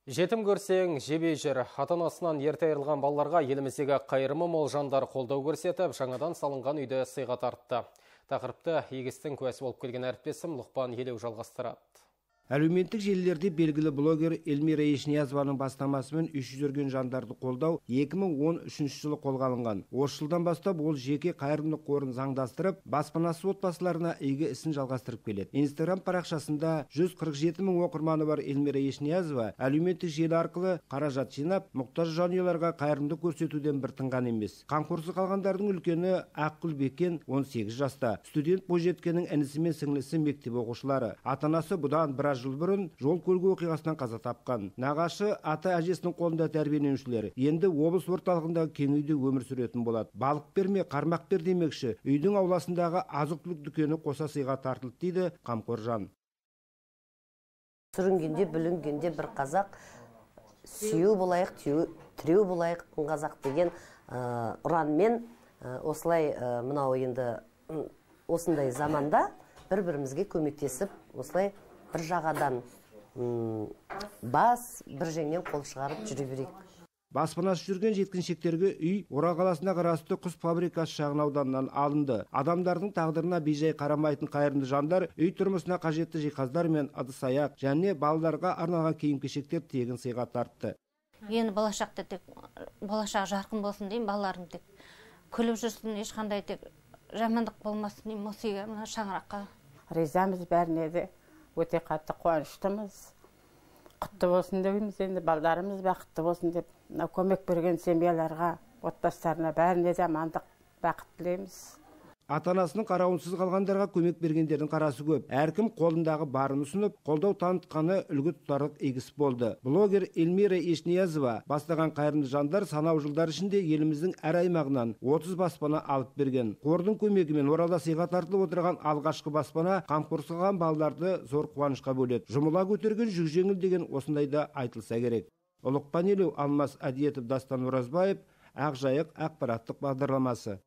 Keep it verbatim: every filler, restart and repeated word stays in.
Жетім көрсең, жебе жер. Ата-анасынан ерте айырылған балаларға еліміздегі қайырымы мол жандар қолдау көрсетіп, жаңадан салынған үйді сыйға тартты. Тақырыпты егістің куәсі болып келген әріптесім Лұқпан Елеу жалғастырады. Әлеуметтік желілерде белгілі блогер Эльмира Ешниязованың бастамасымен үш жүз жүрген жандарды қолдау екі мың он үшінші жылы қолға алынған. Осы жылдан бастап ол жеке қайырымдылық қорын заңдастырып, баспанасыз отбасыларына игі ісін жалғастырып келеді. Инстаграм парақшасында жүз қырық жеті мың оқырманы бар Эльмира Ешниязова әлеуметтік желі арқылы қаражат жинап, мұқтаж жанұяларға қайырымдылық көрсетуден бір тынған емес. Қамқорсыз қалғандардың үлкені Ақгүл Бекен он сегіз жаста. Студент бойжеткеннің інісі мен сіңлісі мектеп оқушылары. Ата-анасы бұдан біраз жыл бұрын жол көлік оқиғасынан қаза тапқан. Нағашы ата әжесінің қолында тәрбиеленушілер енді облыс орталығындағы кең үйде өмір сүретін болады. Балық берме, қармақ бер демекші, үйдің ауласындағы азық-түлік дүкені қоса сыйға тартылды дейді қамқор жан. Сүрінгенде, бүлінгенде бір қазақ, сүйеу болайық, тіреу болайық қазақ деген ұранмен осылай мынау енді осындай заманда бір-бірімізге көмектесіп, осылай бір жағадан бас, бір жеңнен қол шығарып жүре берейік. Баспанасыз жүрген жеткіншектерге үй Орал қаласына қарасты құс фабрикасы шағын ауданынан алынды. Адамдардың тағдырына бейжай қарамайтын қайырымды жандар үй тұрмысына қажетті жиһаздар мен ыдыс-аяқ және балаларға арналған киім-кешектер тегін сыйға тартты. Енді болашақта тек болашақ жарқын болсын деймін, балаларым тек күліп жүрсін, ешқандай тек жамандық болмасын деймін осы үйге, мына шаңыраққа. Ризамыз бәріне де. Өте қатты қуаныштымыз. Құтты болсын дейміз, енді балдарымыз бақытты болсын деп, көмек берген семьяларға, отбасыларына бәріне де амандық, бақыт тілейміз. Ата-анасының қарауынсыз қалғандарға көмек бергендердің қарасы көп. Әркім қолындағы барын ұсынып, қолдау танытқаны үлгі тұтарлық игі іс болды. Блогер Эльмира Ешниязова бастаған қайырымды жандар санау жылдар ішінде еліміздің әр аймағынан отыз баспана алып берген. Қордың көмегімен Оралда сыйға тартылып отырған алғашқы баспана қамқорсыз қалған балаларды зор қуанышқа бөледі. Жұмыла көтерген жүк жеңіл деген осындайда айтылса керек. Лұқпан Елеу, Алмас Әдиетов, Дастан Оразбаев, Ақжайық ақпараттық бағдарламасы.